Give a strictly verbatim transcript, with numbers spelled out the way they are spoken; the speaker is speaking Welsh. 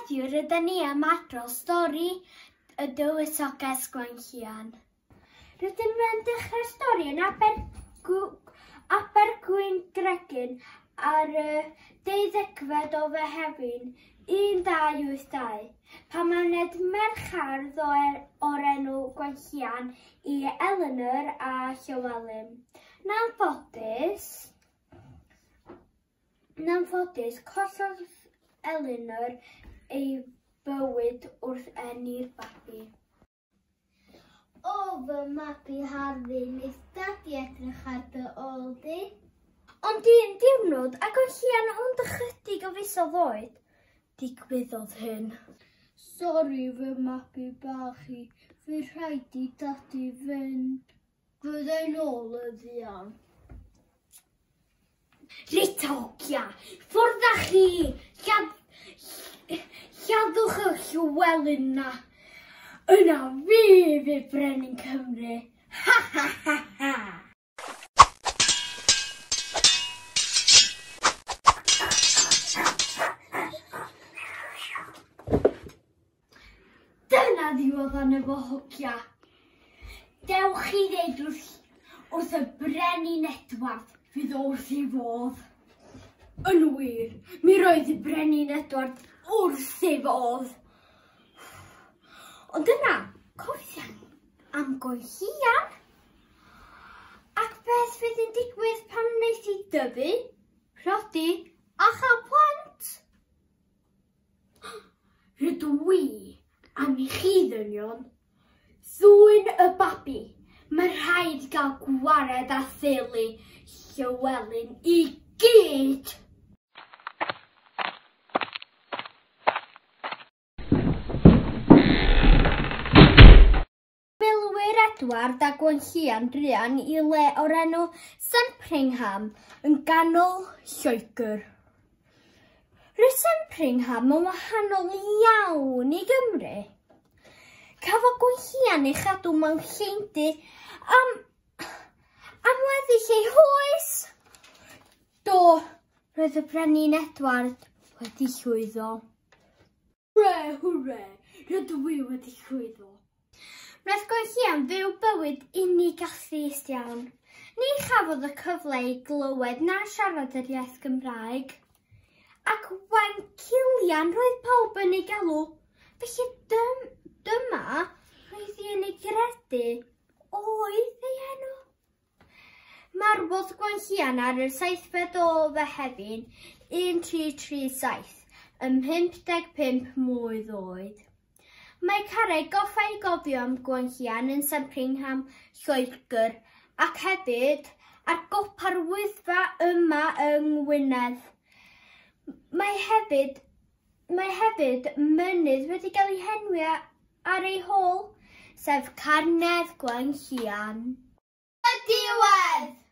Heddiw rydyn ni am adrodd stori y Dywysoges Gwenllian. Rydym yn dechrau'r stori yn Abergwyngregyn ar y deuddegfed o Fehefin un dau wyth dau, pan aned merch hardd o'r enw Gwenllian i Eleanor a Llywelyn. Yn anffodus, yn anffodus, collodd Eleanor ei bywyd wrth eni'r babi. O fy mabi harddu, wneith dadi edrych ar dy ôl di. Ond un diwrnod, ac Gwenllian ond ychydig o fisoedd oed, digwyddodd hyn. Sori fy mabi bach i, fydd rhaid i dadi fynd. Fydda i'n ôl yn fuan. Reit hogia, ffwrdd â chi! Lladd, lladdwch y Llywelyn na. Yna fi fydd Brenin Cymru. Ha ha ha ha! Dyna ddiwedd arno fo hogia. Dewch i ddeud wrth, wrth y Brenin Edward fydd wrth ei fodd. Yn wir, mi roedd y Brenin Edward wrth ei fodd. Ond yna, cofian am Gwenllian. Ac beth fydd yn digwydd pan wneith hi dyfu, priodi a chael plant? Rydw i am i chi ddynion ddwyn y babi. Mae rhaid gael gwared â theulu Llywelyn i gyd. Milwyr Edward a Gwenllian druan i le o'r enw Sempringham yn ganol Lloegr. Roedd Sempringham yn wahanol iawn i Gymru. Cafodd Gwenllian ei chadw mewn lleindy am, am weddill ei hoes. Do, roedd y Brenin Edward wedi llwyddo. Hwre, hwre, rydw i wedi llwyddo. Wnaeth Gwenllian fyw bywyd unig a thrist iawn. Ni chafodd y cyfle i glywed na siarad yr iaith Gymraeg. Ac Wencilian roedd pawb yn ei galw. Felly dym, dyma roedd hi yn ei gredu oedd ei enw. Marwodd Gwenllian ar y seithfed o Fehefin un tri tri saith ym mhump deg pump mlwydd oed. Mae carreg goffa i gofio am Gwenllian yn Sempringham, Lloegr, ac hefyd ar gopa'r Wyddfa yma yng Ngwynedd. Mae hefyd, mae hefyd mynydd wedi cael ei henwi ar ei hôl, sef Carnedd Gwenllian. Y diwedd!